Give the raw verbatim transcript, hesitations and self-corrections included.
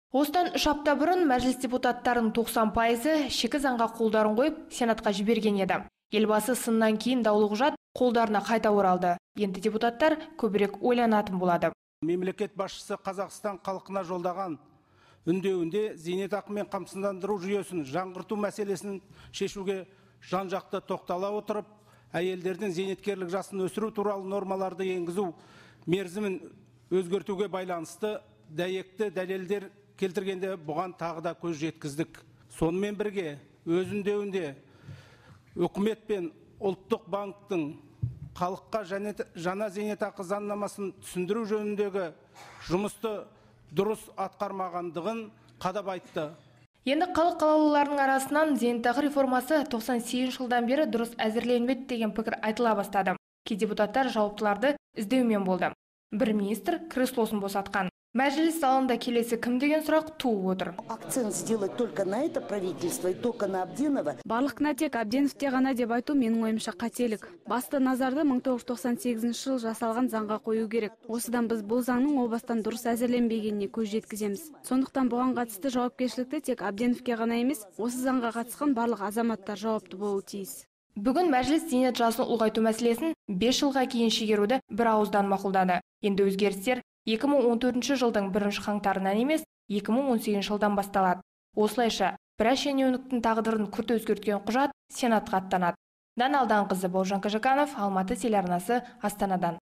Осыдан үш апта бұрын мәжіліс депутаттарының тоқсан пайызы шекі заңға қолдарын қойып, Сенатқа жіберген еді. Елбасы сыннан кейін даулы құжат қолдарына қайта оралды. Енді депутаттар көбірек ойланатын болады. Мемлекет басшысы Қазақстан халқына жолдаған үндеуінде зейнетақымен қамсыздандыру жүйесін жаңғырту мәселесін шешуге жан-жақты тоқтала отырып, әйелдердің зейнеткерлік жасын өсіру туралы нормаларды енгізу мерзімін өзгертуге байланысты дәйекті дәлелдер келтіргенде бұған тағы да көз жеткіздік. Сонымен бірге өз үндеуінде үкімет пен ұлттық банктың халыққа жаңа зейнетақы заңнамасын түсіндіру жөніндегі жұмысты дұрыс атқармағандығын қадап айтты. Енді халық қалаулыларының арасынан зейнетақы реформасы тоқсан сегізінші жылдан бері дұрыс әзірленмеді деген пікір айтыла бастады. Кей депутаттар жауаптыларды іздеумен болды. Бір министр креслосын босатқан. Мәжіліс залында келесі кім деген сұрақ туып отыр. Акцент сделать только на это правительство и только на Абденова. Барлық кінә тек Абденовте ғана деп айту менің ойымша қателік. Басты назарды мың тоғыз жүз тоқсан сегізінші жыл жасалған заңға қою керек. Осыдан біз бұл заңның о бастан дұрыс әзірленбегеніне көз жеткіземіз. Сондықтан бұған қатысты жауапкершілікті тек Абденовке ғана емес, осы заңға қатысқан барлық азаматтар жауапты болуы тиіс. Бүгін мәжіліс зейнет жасын ұлғайту мәселесін бес жылға кейін шегеруді бір ауыздан мақұлдады. Енді өзгерістер екі мың он төртінші жылдың бірінші қаңтарынан емес, екі мың он сегізінші жылдан басталады. Осылайша біраз шенеуніктің тағдырын күрт өзгерткен құжат Сенатқа аттанады. Дана Алданқызы, Бауыржан Қажықанов, Алматы телеарнасы, Астанадан.